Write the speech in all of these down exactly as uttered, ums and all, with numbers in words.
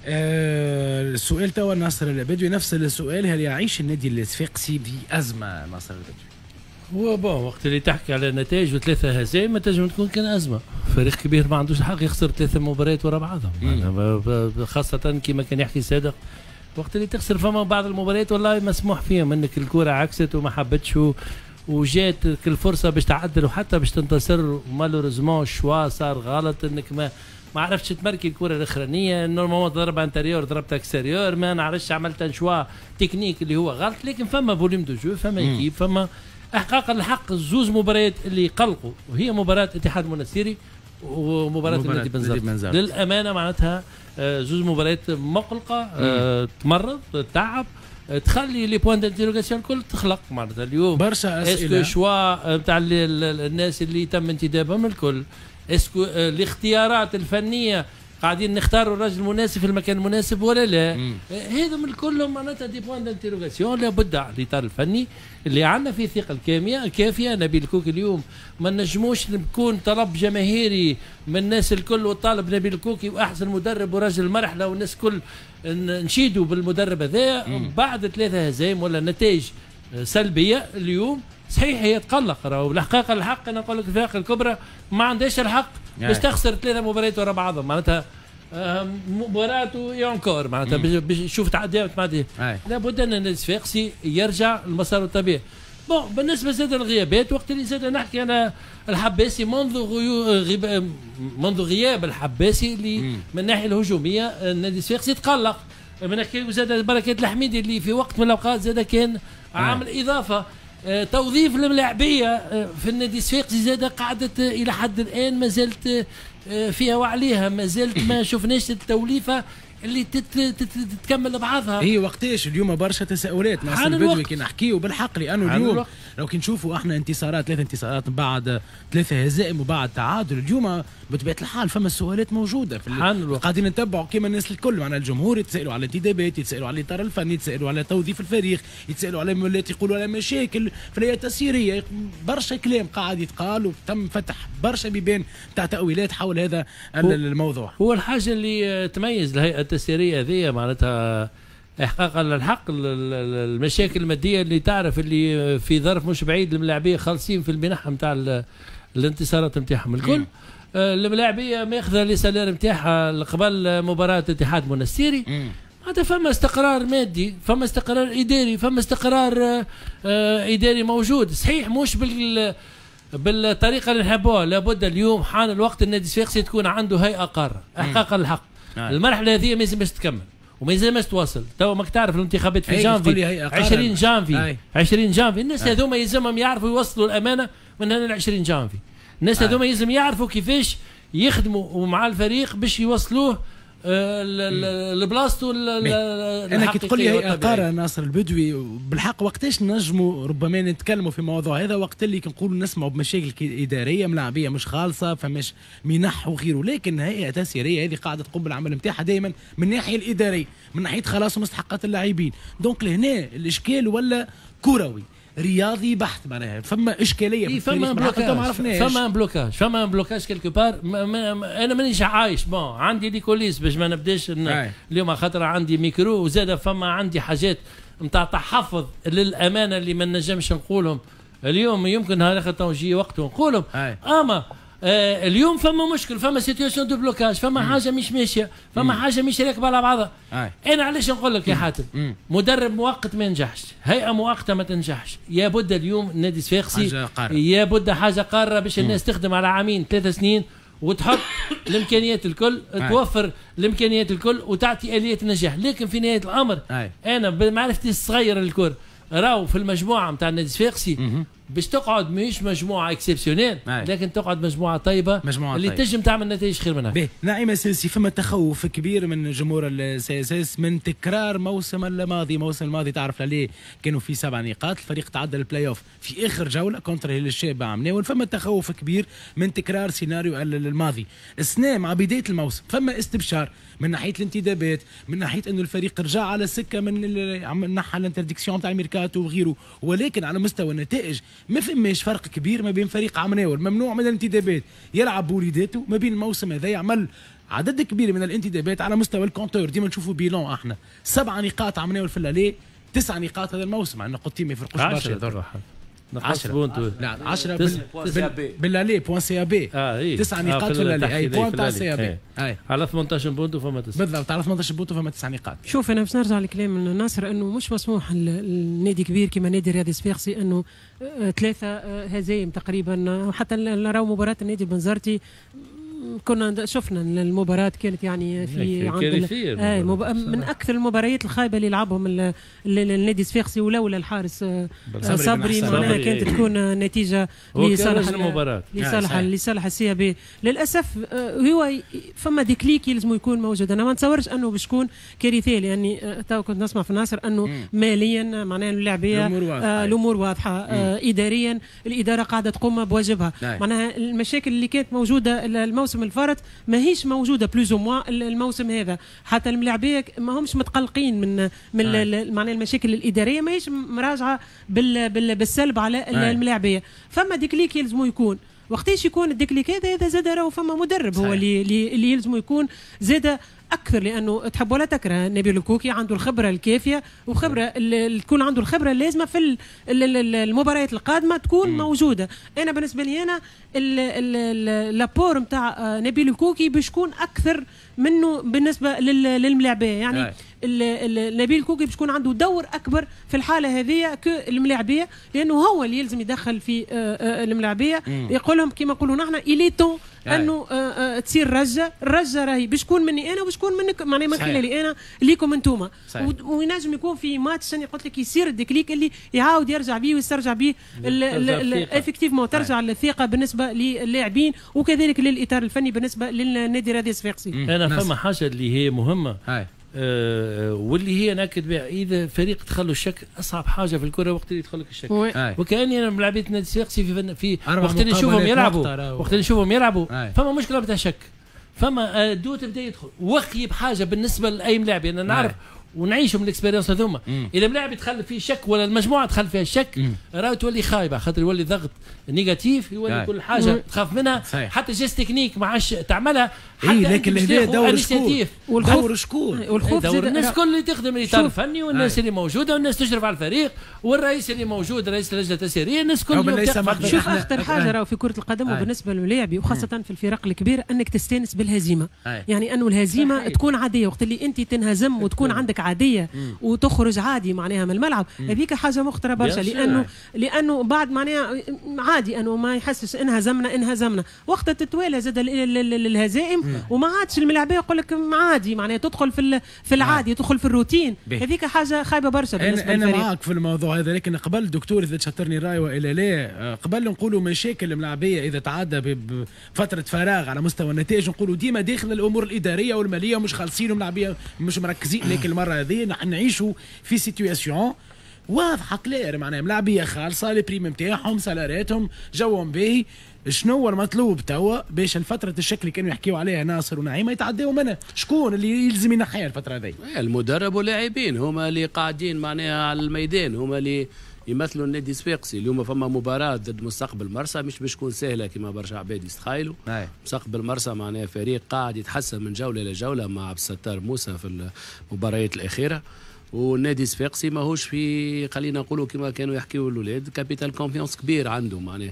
آه السؤال توا ناصر البدوي، نفس السؤال، هل يعيش النادي الصفاقسي بأزمة ناصر البدوي؟ هو bon، وقت اللي تحكي على نتائج وثلاثة هزائم ما تنجم تكون كان ازمه. فريق كبير ما عندوش الحق يخسر ثلاثة مباريات ورا بعضهم، خاصة كما كان يحكي صادق، وقت اللي تخسر فما بعض المباريات والله مسموح فيهم انك الكره عكست وما حبتش وجات الفرصة باش تعدل وحتى باش تنتصر، malheureusement ال choix صار غلط، انك ما ما عرفتش تمركي الكره الاخرانيه، normalement ضرب intérieur ضربت extérieur، ما نعرفش عملت choix technique اللي هو غلط، لكن فما volume de jeu، فما équipe، فما احقاق الحق. زوز مباريات اللي قلقوا وهي مباراة اتحاد منستيري ومباراة النادي بنزرت. للامانة معناتها آه، زوز مباريات مقلقه، آه، تمرض، تعب، آه، تخلي les points d'interrogation الكل تخلق. معناتها اليوم برشا اسئله، est-ce que choix نتاع الناس اللي تم انتدابهم الكل، est-ce que الاختيارات الفنية قاعدين نختاروا الرجل المناسب في المكان المناسب ولا لا؟ هذا من كلهم معناتها des points d'interrogation. لابد على الاطار الفني اللي عندنا فيه الثقة الكاميه الكافيه، نبيل الكوكي، اليوم ما نجموش نكون طلب جماهيري من الناس الكل وطالب نبيل الكوكي واحسن مدرب ورجل المرحلة والناس الكل نشيدوا بالمدرب هذا، بعد ثلاثة هزايم ولا نتائج سلبية اليوم صحيح هي تقلق. راهو الحقيقة الحق انا نقول لك الفرق الكبرى ما عندهاش الحق باش تخسر ثلاثة مباريات ورا بعضهم، معناتها مباراة et encore معناتها باش تشوف تعدي تعدي. لابد ان النادي الصفاقسي يرجع لمساره الطبيعي. bon، بالنسبة زاد الغيابات، وقت اللي زاد نحكي انا الحباسي، منذ غيب منذ غياب الحباسي اللي من الناحية الهجومية النادي الصفاقسي تقلق. من نحكي زاد بركات الحميدي اللي في وقت من الاوقات زاد كان عامل اضافه. آه، توظيف الملاعبيه آه، في النادي الصفاقسي زاد قعدت الى حد الان ما زالت آه، فيها وعليها، ما زالت ما شفناش التوليفه اللي تت تت تتكمل بعضها. هي وقتاش؟ اليوم برشا تساؤلات ناصر البدوي كي نحكيو بالحق، لانه اليوم الوقت. لو كي نشوفوا احنا انتصارات، ثلاث انتصارات بعد ثلاثة هزائم وبعد تعادل، اليوم بطبيعة الحال فما السؤالات موجودة في الوقت. قاعدين نتبعوا كما الناس الكل، معنا الجمهور يتسالوا على الانتدابات، يتسالوا على الاطار الفني، يتسالوا على توظيف الفريق، يتسالوا على مولات، يقولوا على مشاكل في الهيئة التسييريه، برشا كلام قاعد يتقال وتم فتح برشا بيبان تاع تاويلات حول هذا الموضوع. هو الحاجة اللي تميز الهيئة التسييريه هذه معناتها احقاقا للحق المشاكل المادية اللي تعرف اللي في ظرف مش بعيد الملاعبيه خالصين في المنح نتاع الانتصارات نتاعهم الكل، آه، الملاعبيه ماخذه les salaires نتاعها قبل مباراة اتحاد منستيري، هذا فما استقرار مادي، فما استقرار اداري، فما استقرار آه، آه، اداري موجود، صحيح مش بال بالطريقة اللي نحبوها. لابد اليوم حان الوقت النادي الصفاقسي تكون عنده هيئة قارة احقاقا الحق. المرحلة هذه ما يلزمش تكمل وما يلزمش تواصل. تو ماك تعرف الانتخابات في جانفي، عشرين جانفي، عشرين جانفي. الناس هذوما يلزمهم يعرفوا يوصلوا الامانة من هنا ل عشرين جانفي. الناس هذوما يلزم يعرفوا كيفاش يخدموا مع الفريق باش يوصلوه آه، لبلاصتو. انا كي تقول لي هيئة قارة ناصر البدوي، بالحق وقتاش نجموا ربما نتكلموا في موضوع هذا؟ وقت اللي كنقولوا نسمعوا بمشاكل اداريه، ملاعبيه مش خالصه، فماش منح وغيره، لكن هيئة تسييريه هذه قاعدة تقوم بالعمل نتاعها دائما من الناحية الاداريه، من ناحية خلاص مستحقات اللاعبين، donc لهنا الاشكال ولا كروي رياضي بحت، معناها فما اشكالية في فما blocage، فما blocage، فما blocage quelque part. انا مانيش عايش، bon عندي les coulisses باش ما نبداش اليوم خاطر عندي ميكرو، وزاد فما عندي حاجات نتاع تحفظ للامانة اللي ما نجمش نقولهم اليوم، يمكن نهار اخر يجي وقت ونقولهم. اما آه اليوم فما مشكل، فما situation de blocage، فما مم. حاجة مش ماشيه، فما حاجة مش راكبه على بعضها. انا علاش نقول لك يا حاتم، مدرب مؤقت ما ينجحش، هيئة مؤقتة ما تنجحش. يا بد اليوم النادي الصفاقسي يا بد حاجة قارة باش الناس تخدم على عامين ثلاث سنين وتحط الامكانيات الكل، توفر الامكانيات الكل وتعطي اليه النجاح. لكن في نهاية الامر انا بمعرفتي الصغيرة للكرة راهو في المجموعة نتاع النادي الصفاقسي باش تقعد مش مجموعة exceptionnelle، لكن تقعد مجموعة طيبة مجموعة اللي طيبة. تنجم تعمل نتائج خير منها. باهي نعيمه سلسي، فما تخوف كبير من جمهور ال CSS من تكرار موسم الماضي. موسم الماضي تعرف عليه كانوا في سبع نقاط، الفريق تعدى البلاي اوف في اخر جولة contre هلال الشابة عمناول. فما تخوف كبير من تكرار سيناريو الماضي السنة مع بداية الموسم. فما استبشار من ناحية الانتدابات، من ناحية انه الفريق رجع على السكة من نحى l'interdiction تاع الميركاتو وغيره، ولكن على مستوى النتائج ما فماش فرق كبير ما بين فريق عمناول ممنوع من الانتدابات يلعب بوليداته، ما بين الموسم هذا يعمل عدد كبير من الانتدابات على مستوى ال compteur. ديما نشوفوا bilan احنا سبعة نقاط عمناول في l'aller، تسع نقاط هذا الموسم، عندنا نقطتين ما يفرقوش برشا. عشرة لا عشرة بال aller points CAB، تسع نقاط في l'aller، اي point تاع CAB على ثمنطاش بونتو فما تسعة بالضبط، على ثمنطاش بونتو فما تسع نقاط. شوف انا باش نرجع لكلام ناصر انه مش مسموح النادي كبير كما نادي الرياضي الصفاقسي انه ثلاثة هزايم تقريبا، حتى نراو مباراة النادي البنزرتي كنا شفنا المباراة كانت يعني في عند آه مب... من أكثر المباريات الخايبة اللي لعبهم النادي الصفاقسي، ولولا الحارس صبري معناها كانت تكون نتيجة لصالح المباراة لصالح لصالح ال CAB. للأسف هو فما déclic يلزم يكون موجود. أنا ما نتصورش أنه باش تكون كارثية، لأني تو كنت نسمع في ناصر أنه ماليا معناها اللاعبية الأمور واضحة، آه إداريا الإدارة قاعدة تقوم بواجبها، معناها المشاكل اللي كانت موجودة الموسم الفارط ماهيش موجودة plus ou moins الموسم هذا، حتى الملاعبيه ما همش متقلقين من من معناها المشاكل الادارية ماهيش مراجعه بال بال بالسلب على الملاعبيه. فما déclic يلزمو يكون، وقتاش يكون ال déclic هذا؟ هذا زاد راهو فما مدرب هو اللي اللي يلزمو يكون زاد اكثر، لانه تحب ولا تكره نبيل الكوكي عنده الخبرة الكافيه وخبره اللي تكون عنده الخبرة اللازمة في المباريات القادمة تكون مم. موجودة. انا بالنسبة لي انا l'apport نتاع نبيل الكوكي باش يكون اكثر منه بالنسبة للملاعبيه، يعني نبيل الكوكي باش يكون عنده دور اكبر في الحالة هذه كالملاعبيه، لانه هو اللي يلزم يدخل في الملاعبيه يقول لهم كما نقولوا نحن il est temps انه تصير رجه، الرجه راهي باش تكون مني انا وباش تكون منك، معناها من خلالي انا ليكم انتوما، وينجم يكون في ماتش انا قلت لك يصير ال déclic اللي يعاود يرجع بيه ويسترجع بيه effectivement ترجع الثقة بالنسبة للاعبين وكذلك للاطار الفني بالنسبة للنادي الرياضي الصفاقسي. انا فما حاجة اللي هي مهمة آه واللي هي ناكد بها، اذا فريق دخلوا الشك اصعب حاجة في الكره وقت اللي يدخلك الشك، وكاني انا ملاعبيه النادي الصفاقسي في في وقت اللي نشوفهم يلعبوا وقت اللي نشوفهم يلعبوا فما مشكلة بتاع شك، فما doute بدا يدخل وخي بحاجة بالنسبة لاي ملاعب، انا نعرف ونعيشوا من ال expérience هذوما، اذا ملاعب يدخل فيه شك ولا المجموعة دخل فيها شك راهو تولي خايبة، خاطر يولي ضغط négatif، يولي كل حاجة مم. تخاف منها. صحيح. حتى geste technique ما عادش تعملها حتى إيه، لكن هنا دور شكون؟ دور شكون؟ والخوف دور الناس الكل اللي تخدم الاطار الفني والناس اللي موجودة والناس تشرف على الفريق والرئيس اللي موجود رئيس اللجنة التسييريه، الناس الكل. شوف اخطر حاجة راهو في كره القدم وبالنسبة للاعبي وخاصة في الفرق الكبيرة انك تستانس بالهزيمة، يعني انه الهزيمة تكون عادية، وقت اللي انت تنهزم وتكون عندك عادية وتخرج عادي معناها من الملعب، هذيك حاجة مخطره برشا، لانه لانه بعد معناها عادي انه ما يحسش انهزمنا انهزمنا، وقت تتوالى زاد الهزائم وما عادش الملاعبيه يقول لك عادي، معناها تدخل في في العادي، تدخل في الروتين، هذيك حاجة خايبة برشا بالنسبة للفريق. انا معاك في الموضوع هذا، لكن قبل دكتور اذا تشطرني الراي والا لا، قبل نقولوا مشاكل الملاعبيه اذا تعدى بفترة فراغ على مستوى النتائج نقولوا ديما داخل الامور الادارية والمالية ومش خالصين وملاعبيه مش مركزين، لكن المرة هذه نحن نعيشوا في situation واضحة claire، معناها ملاعبيه خالصة les primes نتاعهم salaire اتهم جوهم باهي. شنو هو المطلوب توا باش الفترة الشك اللي كانوا يحكيوا عليها ناصر ونعيمه يتعداو منها؟ شكون اللي يلزم ينحيها الفترة هذه؟ المدرب واللاعبين هما اللي قاعدين معناها على الميدان، هما اللي يمثلوا النادي الصفاقسي. اليوم فما مباراة ضد مستقبل مرسى مش باش تكون سهلة كما برشا عباد يستخيلوا. مستقبل مرسى معناها فريق قاعد يتحسن من جولة لجولة مع عبد الستار موسى في المباريات الأخيرة، والنادي الصفاقسي ماهوش في خلينا نقولوا كما كانوا يحكيوا الاولاد capital confiance كبير عنده معناها.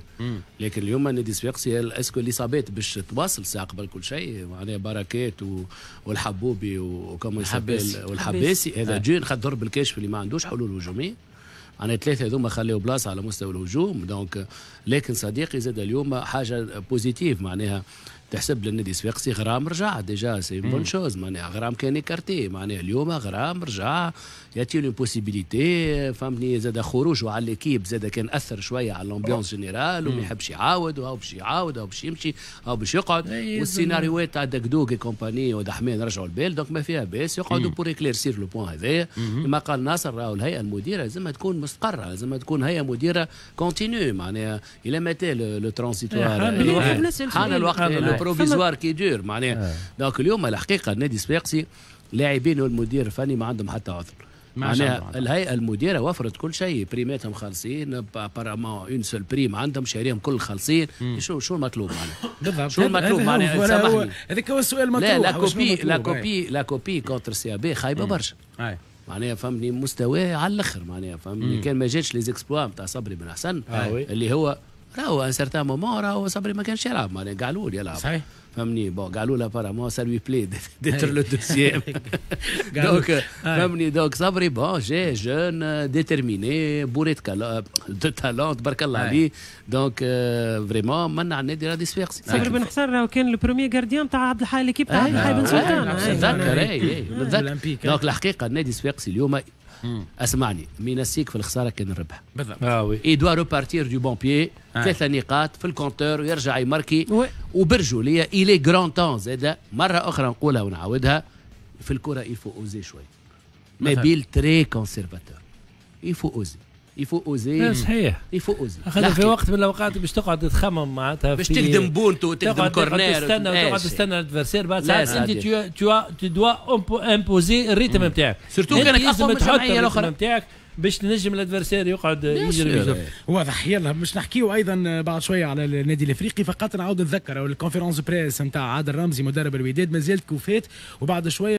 لكن اليوم النادي الصفاقسي est-ce que الاصابات باش تواصل ساعة قبل كل شيء، معناها بركات و... والحبوبي وكما والحباسي هذا جون خد ضرب الكشف اللي ما عندوش حلول هجومية، معناها ثلاثة هذوما خليوا بلاصة على مستوى الهجوم. donc لكن صديقي زاد اليوم حاجة positive معناها تحسب للنادي الصفاقسي، غرام رجع déjà c'est bonne chose، معناها غرام كان écarté، معناها اليوم غرام رجع يعطي له possibilité فهمتني، زاد خروجه على l'équipe زاد كان اثر شوية على l'ambiance générale وما يحبش يعاود وهو باش يعاود وهو باش يمشي هو باش يقعد، والسيناريوهات تاع دقدوق compagnie ودحمان رجعوا البال، donc ما فيها باس يقعدوا pour éclaircir le point هذايا. كما قال ناصر راهو الهيئة المديرة لازمها تكون مستقره، لازمها تكون هيئة مديره continue، معناها الى متى le transitoire، حان الوقت le provisoire qui dure معناها. donc اليوم الحقيقة النادي الصفاقسي لاعبين والمدير الفني ما عندهم حتى عذر. معناها الهيئة المديرة وفرت كل شيء، بريماتهم خالصين، apparemment une seule prime عندهم، شاريهم كل خالصين. شو شو المطلوب معناها؟ بالضبط، شو المطلوب معناها؟ سامحني، هذاك هو السؤال المطروح. لا la copie la copie la copie contre CAB خايبة برشا معناها فهمني، مستواه على الاخر معناها فهمني. كان ما جاتش les exploits نتاع صبري بن حسن آه اللي هو راهو un certain moment راهو صبري ما كانش يلعب معناها، قعلول يلعب صحيح فهمني. bon قالوا apparemment ça lui plaît d'être le deuxième، donc فهمني. donc صبري bon جاي jeune déterminé bourré de talent تبارك الله عليه، donc vraiment منع النادي الرياضي الصفاقسي. صبري بن حسن راهو كان ال premier gardien تاع عبد الحي، l'équipe تاع عبد الحي بن سلطان. نتذكر، اي نتذكر. donc الحقيقة النادي الصفاقسي اليوم، اسمعني، مينسيك في الخسارة كان الربح. بالضبط. اه oui. il doit repartir du bon pied، ثلاثة نقاط في ال compteur ويرجع يماركي وبرجوليه il est grand temps زاد مرة اخرى نقولها ونعاودها، في الكره il faut oser شوي. نبيل très conservateur، il faut oser، il faut oser. صحيح. il faut oser. خاطر في وقت من الاوقات باش تقعد تخمم معناتها باش تخدم بونتو وتخدم corner تستنى وتقعد تستنى ال adversaire، بعد ساعات انت tu tu dois imposer ال rythme نتاعك. surtout كانك اقوى من الجمعية الاخرى نتاعك باش تنجم ال adversaire يقعد يجري. واضح. يلا باش نحكيو ايضا بعد شوية على النادي الافريقي، فقط نعاود نتذكر ال conférence presse نتاع عادل رمزي مدرب الوداد مازالت كوفات وبعد شوية.